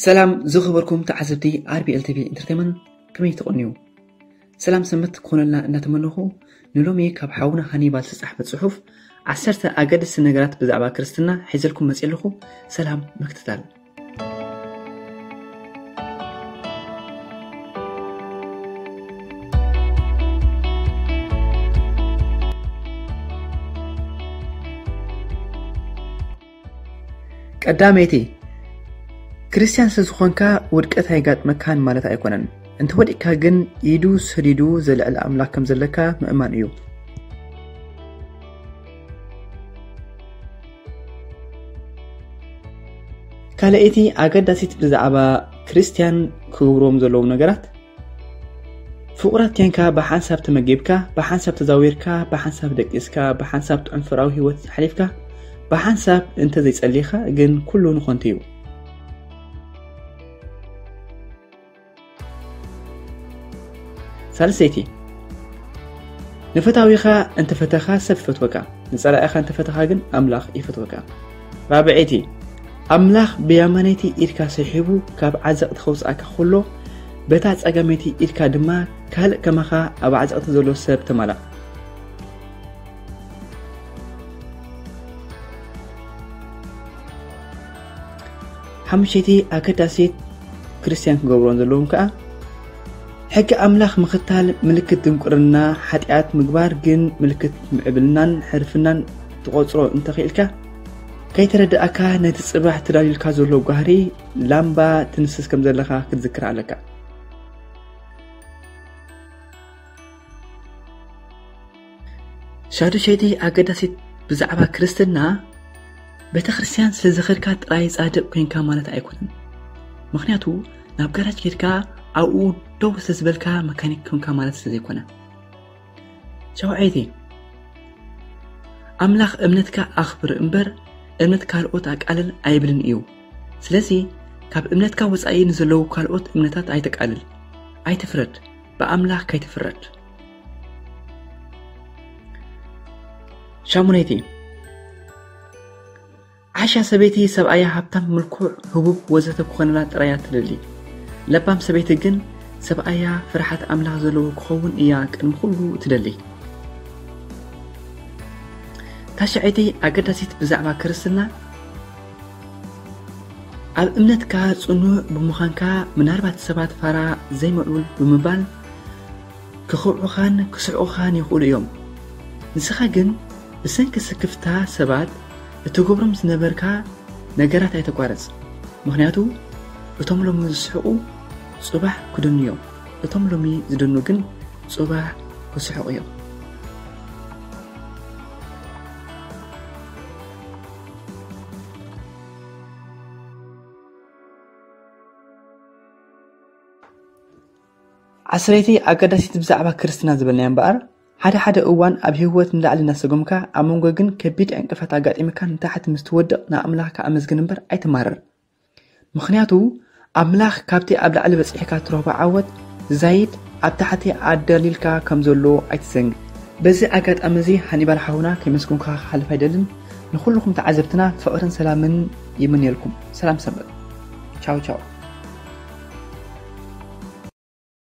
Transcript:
ሰላም ዝኽበርኩም ተዓዘብቲ ኣር ቢ ኤል ቲ ቪ ኢንተርቴይመንት፣ ከመይ ትቕንዩ? ሰላም ሰንበት ክኾነልና እናተመነኹ፣ ንሎሚ ካብ ሓውና ሃኒባል ዝተጻሕፈ ጽሑፍ ዓሰርተ ኣገደስቲ ነገራት ብዛዕባ ክርስትና ሒዘልኩም መጺእ ኣለኹ። ሰላም ምክትታል። ቀዳመይቲ፣ ክርስትያን ስለ ዝኾንካ ውድቀት ኣይጋጥመካን ማለት ኣይኮነን። እንተወዲቅካ ግን ኢዱ ሰዲዱ ዘልዕል ኣምላኽ ከም ዘለካ ምእማን እዩ። ካልኣይቲ ኣገዳሲት ብዛዕባ ክርስትያን ክገብርዎም ዘለዎም ነገራት፣ ፍቑራት ኬንካ ብሓንሳብ ተመጊብካ፣ ብሓንሳብ ተዛዊርካ፣ ብሓንሳብ ደቂስካ፣ ብሓንሳብ ጥዑም ፍቕራዊ ህይወት ኣሕሊፍካ፣ ብሓንሳብ እንተ ዘይጸሊኻ ግን ኩሉ ንኾንቱ እዩ። ሳልሰይቲ፣ ንፈታዊኻ እንተፈተኻ ሰብ ይፈትወካ፣ ንጸላኢኻ እንተፈተኻ ግን ኣምላኽ ይፈትወካ። ራብዐይቲ፣ ኣምላኽ ብያማነይቲ ኢድካ ሰሒቡ ካብ ዓዘቕቲ ከውጽኣካ ከሎ፣ በታ ጸጋመይቲ ኢድካ ድማ ካልእ ከማኻ ኣብ ዓዘቕቲ ዘሎ ሰብ ተማላእ። ሓሙሸይቲ ኣገዳሲት ክርስትያን ክገብሮን ዘለዎም ከኣ፣ ሕጊ ኣምላኽ ምኽታል ምልክት ድንቁርና፣ ሓጢኣት ምግባር ግን ምልክት ምዕብልናን ሕርፍናን ትቖጽሮ እንተኽኢልካ፣ ከይተረድኣካ ነቲ ጽባሕ ተዳልዩልካ ዘሎ ጓህሪ ላምባ ትንስስ ከም ዘለኻ ክትዝክር ኣለካ። ሻዱሸይቲ ኣገዳሲት ብዛዕባ ክርስትና፣ ቤተ ክርስትያን ስለ ዝኸድካ ጥራይ ጻድቕ ኮንካ ማለት ኣይኮነን። ምኽንያቱ ናብ ጋራጅ ኬድካ ኣብኡ ደው ስለ ዝበልካ መካኒክ ኮንካ ማለት ስለ ዘይኮነ። ሻውዓይቲ፣ ኣምላኽ እምነትካ ኣኽብር እምበር እምነት ካልኦት ኣቃልል ኣይብልን እዩ። ስለዚ ካብ እምነትካ ወጻኢ ንዘለዉ ካልኦት እምነታት ኣይተቃልል፣ ኣይትፍረድ፣ ብኣምላኽ ከይትፍረድ። ሻሙነይቲ፣ ዓሻ ሰበይቲ ሰብኣያ ሃብታም፣ ምልኩዕ፣ ህቡብ ወዘተ ክኾነላ ጥራያ ትደሊ። ለባም ሰበይቲ ግን ሰብኣያ ፍርሓት ኣምላኽ ዘለዎ ክኸውን እያ ቅድሚ ኩሉ ትደሊ። ታሽዐይቲ ኣገዳሲት ብዛዕባ ክርስትና፣ ኣብ እምነትካ ጽኑዕ ብምዃንካ ምናልባት ሰባት ፋራ ዘይምዕቡል ብምባል ክኽብዑኻን ክስሕቑኻን ይኽእሉ እዮም። ንስኻ ግን ብሰንኪ ስክፍታ ሰባት እትገብሮም ዝነበርካ ነገራት ኣይተቋርጽ። ምኽንያቱ እቶም ሎሚ ዝስሕቑ ጽባሕ ክደኑ እዮም። እቶም ሎሚ ዝደኑ ግን ጽባሕ ክስሕቑ እዮም። ዓስረይቲ ኣገዳሲት ብዛዕባ ክርስትና ዝበልናያ እምበኣር፣ ሓደ ሓደ እዋን ኣብ ህይወት ንላዕሊ እናሰጎምካ፣ ኣብ መንጎ ግን ከቢድ ዕንቅፋት ኣጋጢምካ ንታሕቲ ምስ ትወድቕ ንኣምላኽካ ኣመስግን እምበር ኣይትማረር። ምኽንያቱ ኣምላኽ ካብቲ ኣብ ላዕሊ በጺሕካ ትረኽቦ ዓወት ዝዛይድ ኣብ ታሕቲ ኣዳልዩልካ ከም ዘሎ ኣይትዘንግዕ። በዚ ኣጋጣሚ እዚ ሃኒባል ሓውና ከየመስገንኩኻ ክሓልፍ ኣይደልን። ንኹልኹም ተዓዘብትና ፍቕርን ሰላምን ይምንየልኩም። ሰላም ሰንበት። ቻው ቻው።